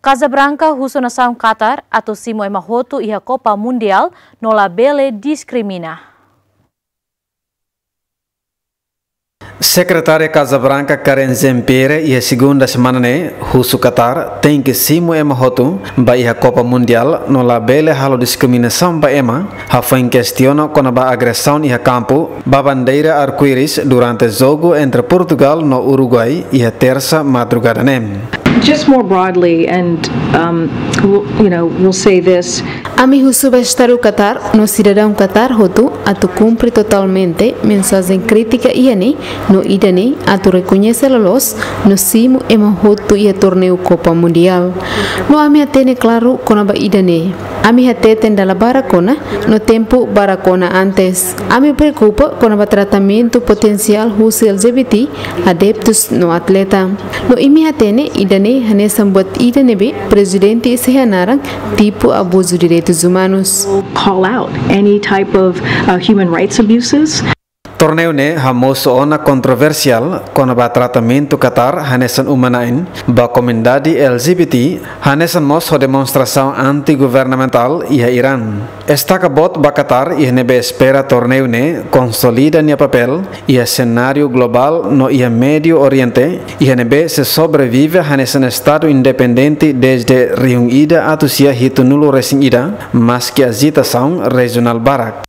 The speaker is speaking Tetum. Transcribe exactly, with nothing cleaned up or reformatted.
Casa Branca husu nasaun Qatar atu simu ema hotu iha Copa Mundial no labele diskrimina. Sekretária Casa Branca Karen Jean-Pierre iha segunda semana ne'e husu Qatar tenke simu ema hotu ba iha Copa Mundial no labele halo diskriminasaun ba ema, hafoin kestiona kona-ba agresaun iha kampu ba bandeira arco-íris durante jogu entre Portugal no Uruguai iha tersa madrugada ne'e. Just more broadly, and um, we'll, you know, we'll say this. Ami husu ba Estadu Qatar no sidadaun Qatar hotu atu kumpre totalmente mensajen krítika iha ne'e, no ida-ne'e atu rekoñese loloos no simu ema hotu iha torneiu Copa Mundial. No ami hatene klaru kona-ba ida-ne'e. Ami hateten dala barak ona, no tempu barak ona antes. Ami preokupa kona-ba tratamentu potensiál husi L G B T, adeptus no atleta. No imi hatene ida-ne'e hanesan buat ida ne'ebé Prezidente sei hanaran tipu abuzu direitus umanus. Call out any type of uh, human rights abuses. Torneiu ne'e hamosu ona kontroversiál kona-ba tratamentu Qatar hanesan uma-na'in ba komunidade L G B T, hanesan mós ho demonstrasaun anti-governamentál iha Irán. Estaka boot ba Qatar iha ne'ebé espera torneiu ne'e konsolida nia papél iha senáriu globál no iha Médiu Oriente, iha ne'ebé sei sobrevive hanesan estadu independente dezde rihun ida atus sia hitunulu resin ida, maski ajitasaun rejionál barak.